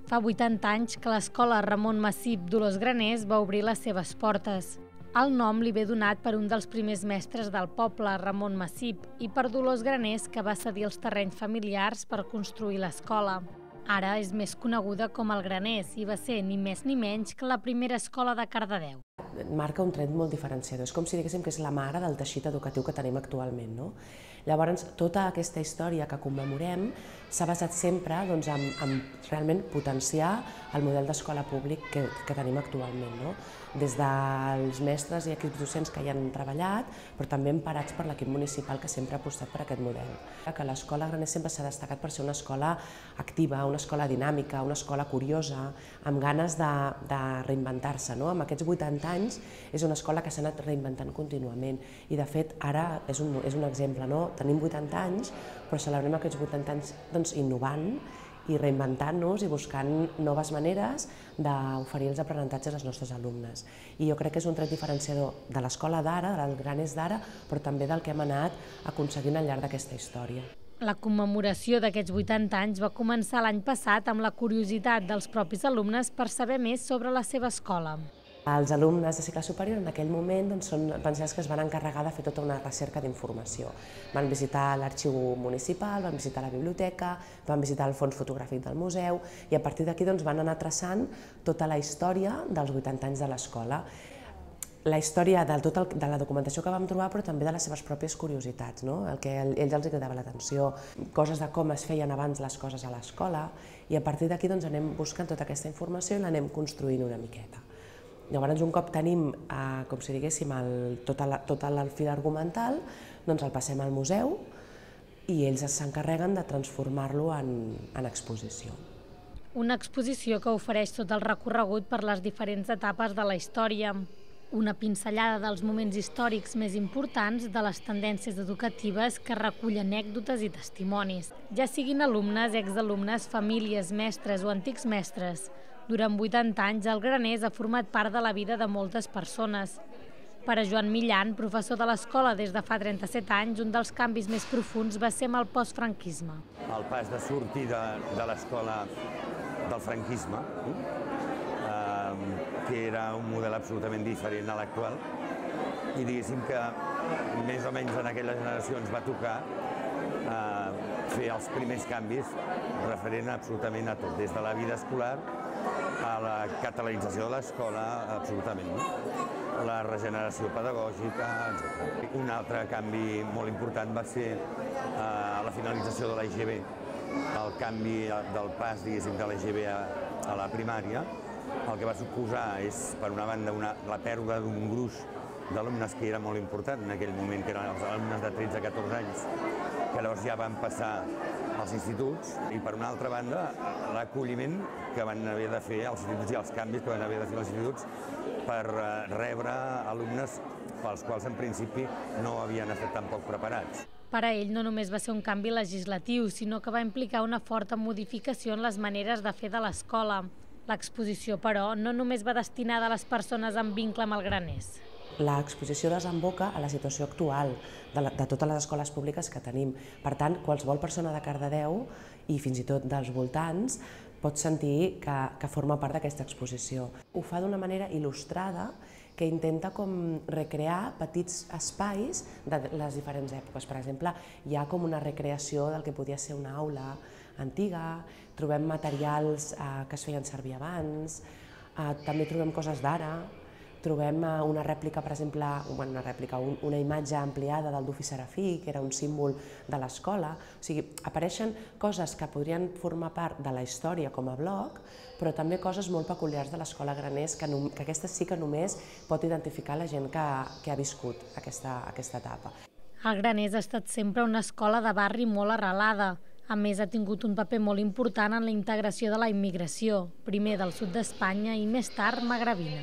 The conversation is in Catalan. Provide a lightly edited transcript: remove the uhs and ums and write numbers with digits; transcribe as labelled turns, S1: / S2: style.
S1: Fa 80 anys que l'escola Ramon Massip d'Olors Graners va obrir les seves portes. El nom li ve donat per un dels primers mestres del poble, Ramon Massip, i per Dolors Graners, que va cedir els terrenys familiars per construir l'escola. Ara és més coneguda com el Graners i va ser ni més ni menys que la primera escola de Cardedeu.
S2: Marca un tret molt diferenciador, és com si diguéssim que és la mare del teixit educatiu que tenim actualment. Llavors, tota aquesta història que commemorem s'ha basat sempre en realment potenciar el model d'escola públic que tenim actualment, des dels mestres i equips docents que hi han treballat, però també emparats per l'equip municipal que sempre ha apostat per aquest model. Que l'escola Graners sempre s'ha destacat per ser una escola activa, una escola dinàmica, una escola curiosa, amb ganes de reinventar-se. Amb aquests 80 anys és una escola que s'ha anat reinventant contínuament i de fet ara és un exemple. Tenim 80 anys, però celebrem aquests 80 anys innovant i reinventant-nos i buscant noves maneres d'oferir els aprenentatges als nostres alumnes. I jo crec que és un tret diferenciador de l'escola d'ara, del Graners d'ara, però també del que hem anat aconseguint al llarg d'aquesta història.
S1: La commemoració d'aquests 80 anys va començar l'any passat amb la curiositat dels propis alumnes per saber més sobre la seva escola.
S2: Els alumnes de cicle superior en aquell moment van ser els que es van encarregar de fer tota una recerca d'informació. Van visitar l'arxiu municipal, van visitar la biblioteca, van visitar el fons fotogràfic del museu i a partir d'aquí van anar traçant tota la història dels 80 anys de l'escola. La història de la documentació que vam trobar, però també de les seves pròpies curiositats, el que a ells els cridava l'atenció, coses de com es feien abans les coses a l'escola, i a partir d'aquí anem buscant tota aquesta informació i l'anem construint una miqueta. Llavors, un cop tenim, com si diguéssim, tot el fil argumental, el passem al museu i ells s'encarreguen de transformar-lo en exposició.
S1: Una exposició que ofereix tot el recorregut per les diferents etapes de la història, una pinzellada dels moments històrics més importants de les tendències educatives que recull anècdotes i testimonis, ja siguin alumnes, exalumnes, famílies, mestres o antics mestres. Durant 80 anys, el Graners ha format part de la vida de moltes persones. Per a Joan Millan, professor de l'escola des de fa 37 anys, un dels canvis més profuns va ser amb el postfranquisme.
S3: El pas de sortida de l'escola del franquisme, que era un model absolutament diferent a l'actual, i diguéssim que més o menys en aquella generació ens va tocar fer els primers canvis referent absolutament a tot, des de la vida escolar a la catalanització de l'escola, absolutament, la regeneració pedagògica, etc. Un altre canvi molt important va ser la finalització de l'EGB, el canvi del pas, diguéssim, de l'EGB a la primària. El que va suposar és, per una banda, la pèrdua d'un gruix d'alumnes que era molt important en aquell moment, que eren els alumnes de 13-14 anys, que llavors ja van passar als instituts, i per una altra banda l'acolliment que van haver de fer els instituts i els canvis que van haver de fer els instituts per rebre alumnes pels quals en principi no havien estat tampoc preparats.
S1: Per a ell no només va ser un canvi legislatiu, sinó que va implicar una forta modificació en les maneres de fer de l'escola. L'exposició, però, no només va destinada a les persones amb vincle amb el Graners.
S2: L'exposició desemboca a la situació actual de totes les escoles públiques que tenim. Per tant, qualsevol persona de Cardedeu i fins i tot dels voltants pot sentir que forma part d'aquesta exposició. Ho fa d'una manera il·lustrada que intenta recrear petits espais de les diferents èpoques. Per exemple, hi ha com una recreació del que podia ser una aula antiga, trobem materials que es feien servir abans, també trobem coses d'ara, trobem una rèplica, per exemple, una imatge ampliada del Dufi Serafí, que era un símbol de l'escola. O sigui, apareixen coses que podrien formar part de la història com a bloc, però també coses molt peculiars de l'escola Graners, que aquestes sí que només pot identificar la gent que ha viscut aquesta etapa.
S1: El Graners ha estat sempre una escola de barri molt arrelada. A més, ha tingut un paper molt important en la integració de la immigració, primer del sud d'Espanya i més tard magrebina.